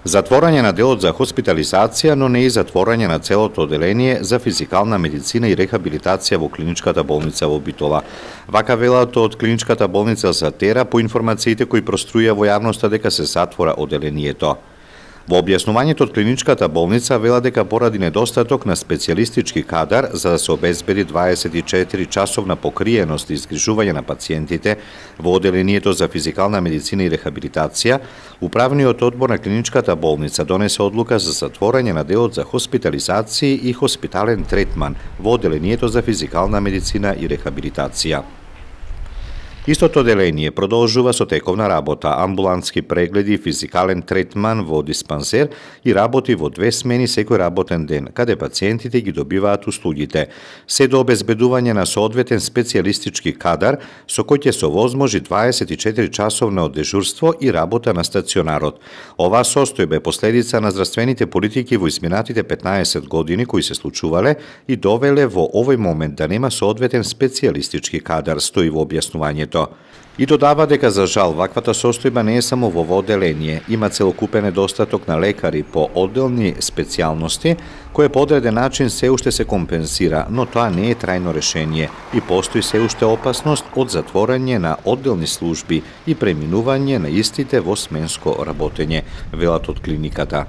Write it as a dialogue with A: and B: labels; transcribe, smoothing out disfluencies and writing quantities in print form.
A: Затворање на делот за хоспитализација, но не и затворање на целото оделение за физикална медицина и рехабилитација во клиничката болница во Битола. Вака велат од клиничката болница за Тера по информациите кои проструја во јавноста дека се затвора оделението. Во објаснувањето од клиничката болница вела дека поради недостаток на специјалистички кадар за да се обезбеди 24 часовна покриеност и згрижување на пациентите во оделението за физикална медицина и рехабилитација, управниот одбор на клиничката болница донесе одлука за затворање на делот за хоспитализација и хоспитален третман во оделението за физикална медицина и рехабилитација. Истото оделение продолжува со тековна работа, амбулантски прегледи, физикален третман во диспансер и работи во 2 смени секој работен ден, каде пациентите ги добиваат услугите, се до обезбедување на соодветен специјалистички кадар со кој ќе се овозможи 24 часовно дежурство и работа на стационарот. Оваа состојба е последица на здравствените политики во изминатите 15 години кои се случувале и довеле во овој момент да нема соодветен специјалистички кадар, стои во објаснувањето. И додава дека за жал ваквата состојба не е само во оделение, има целокупен недостаток на лекари по одделни специјалности, кој по одреден начин се уште се компенсира, но тоа не е трајно решение и постои се уште опасност од затворање на одделни служби и преминување на истите во сменско работење, велат од клиниката.